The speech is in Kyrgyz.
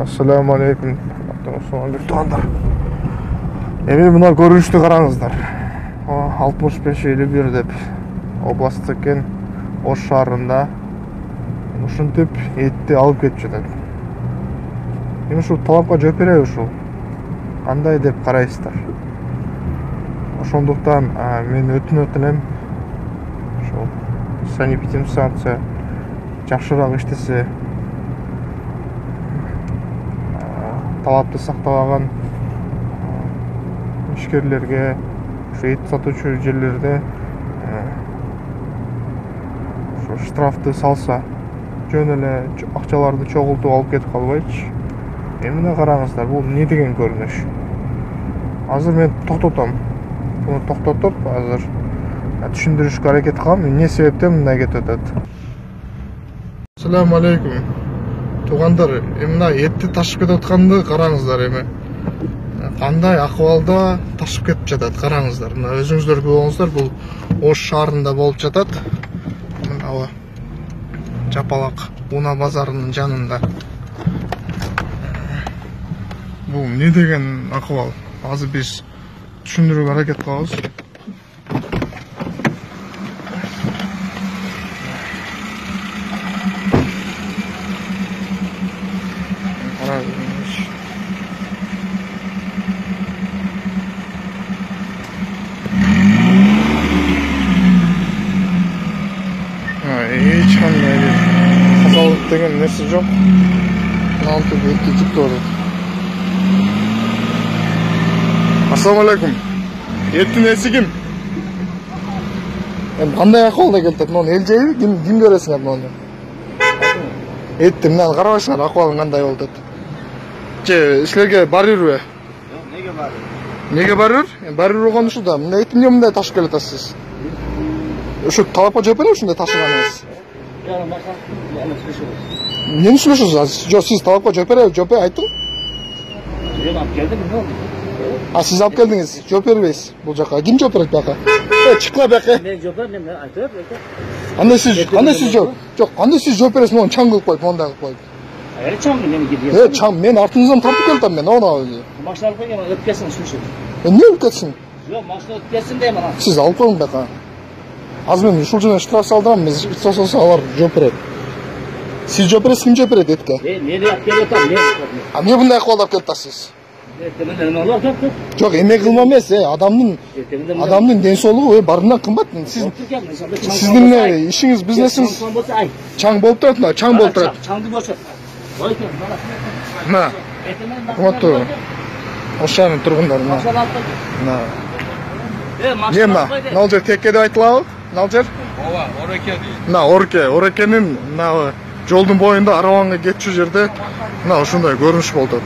Assalamu alaikum. Тугандар. Эми мына көрүнүштү караңыздар. 65-51 деп област экен, Ош шаарында ушинтип этти алып кетип жатат. Эми ушул талапка жооп береби ушул? Кандай деп карайсыздар? Ошондуктан мен өтүнөт элем ошол санэпидемстанция жакшыраак иштесе, талапты сактабаган ишкерлерге, ушу эт сатуучу жерлерде штрафты салса, жөн эле акчаларды чогултуп алып кетип калбайчы. Эмне караңыздар, бул эмне деген көрүнүш? Азыр мен токтотом. Буну токтотуп, азыр түшүндүрүшкө аракет кылам, эмне себептен мындай кетип атат. Assalamu alaikum. Тугандар, мына этти ташып кетип атканды караңыздар эми. Кандай акыбалда ташып кетип жатат, караңыздар. Мына өзүңүздөр көрүңүздөр, бул Ош шаарында болуп жатат. Мына Жапалак Уна базарынын жанында. Бул эмне деген акыбал? Азыр биз түшүндүрүүгө аракет кылабыз. Эч кандай тазалык деген нерсе жок. Антип этти жип турат. Assalamu alaikum. Эттин эси ким? Кандай акыбалда келтет? Муну эл жейби? Ким көрөсүңөр муну? Этти мына карабайсыңар, акыбалы кандай болуп атат. Же силерге барырбы? Жок, неге барыр? Неге барыр? Барыр болгон ушул да. Мына этти эмне мындай ташып келатасыз? Ушу талапка жооп береби ушундай ташыганыңыз? Эмнени сүйлөшөсүз? Жок, сиз талапка жооп береби? Жооп айтың. Мен алып келдим, эмне болду? Сиз алып келдиңиз, жооп бербейсиз бул жака. Ким жооп берет бияка? Чыкла бияка. Мен жооп берем, мен айтып берем. Кандай сиз жооп? Жок, кандай сиз жооп бересиз? Мону чаң кылып коюп, мондай кылып коюп. Чаң мен кирген. Чаң, мен артыңыздан тартып келдим мен, оны. Машина алып келген, өткөсүң сүйлөшөт. Эмне өткөсүң? Жок, машина өткөсүң дейм ана. Сиз алып коюң бияка. Азыр мен ушул жерден штраф салдырам, мен штраф салса алар жооп берет. Сиз жооп бересиз, ким жооп берет этке? Мен алып келип атам, мен. Эмне мындай акыбалда алып келип атасыз? Жок, эме кылма эмес, адамдын ден соолугу барынан кымбат. Сиздин ишиңиз, бизнесиңиз чаң болуп турат, чаң болуп турат. Чаңды көрсөт. Мына. Кымбаттуу. Ош шаарынын тургундары мына. Мына. Налжер текке деп айтылабы? Налжер? Ооба, Ореке дейт. Мына Орекенин мына жолдун боюнда арабанга кетчү жерде мына ушундай көрүнүш болуп атат.